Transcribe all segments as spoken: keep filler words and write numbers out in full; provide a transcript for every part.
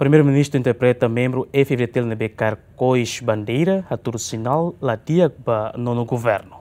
Primeiru-Ministru interpreta membru F-FDTL ne'ebé kaer kois bandeira, hatudu sinál la di'ak ba nonu governu.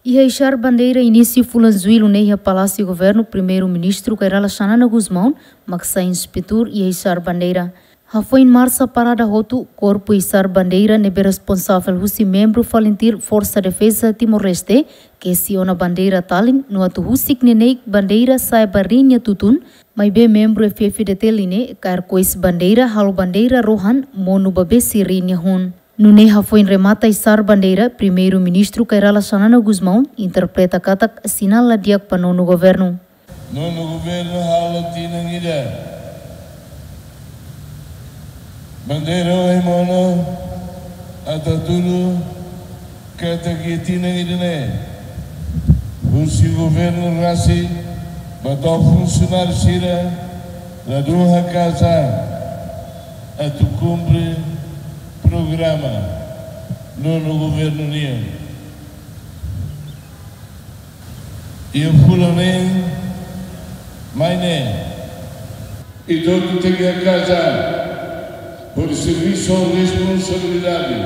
Iha isar bandeira inísiu fulan Jullu ne'e iha Palásiu Governu, Primeiru-Ministru Kay Rala Xanana Gusmão mak sai inspetór iha isar bandeira. Hafoin marsa parada hotu, korpu isar bandeira ne'ebé responsavel husi membru FALINTIL Forsa Defeza Timor-Leste kesi ona bandeira talin no atu husik neineik bandeira sa'e ba rin nia tutun, maibé membru F-FDTL ne'e kaer kois bandeira, halo bandeira rohan monu ba besi rin nia hun. Nune'e hafoin remata isar bandeira, Primeiru-Ministru Kay Rala Xanana Gusmão interpreta katak sinál la di'ak ba nonu governu. Nonu governu halo tinan ida bandeira ohin monu, atu hatudu katak iha tinan ida-ne'e, husi governu rasik ba to'o funsionáriu sira, ladún haka'as an atu kumpre programa nonu governu nian. Iha fulan neen mai ne'e, ita hotu tenke haka'as an hodi servisu ho responsabilidade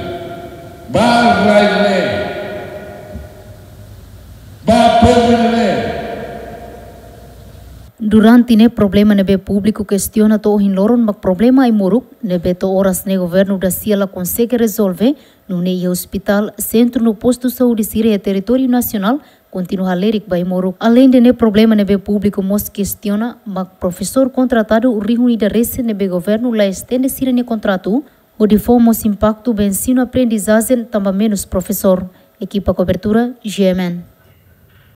ba rai ne'e, ba povu ne'e. Durante ne'e, problema ne'ebé públiku kestiona to'o ohin loron mak problema ai-moruk ne'ebé to'o oras ne'e governu da sia la konsege rezolve, nune'e iha ospitál, sentru no postu saúde sira iha territóriu nasionál kontinua halerik ba ai-moruk. Aleinde ne'e, problema ne'ebé públiku mós kestiona mak profesór kontratadu rihun ida resin ne'ebé governu la estende sira-nia kontratu, hodi fó mós impaktu ba ensinu-aprendizajen tanba menus profesór. Ekipa kobertura, G M N.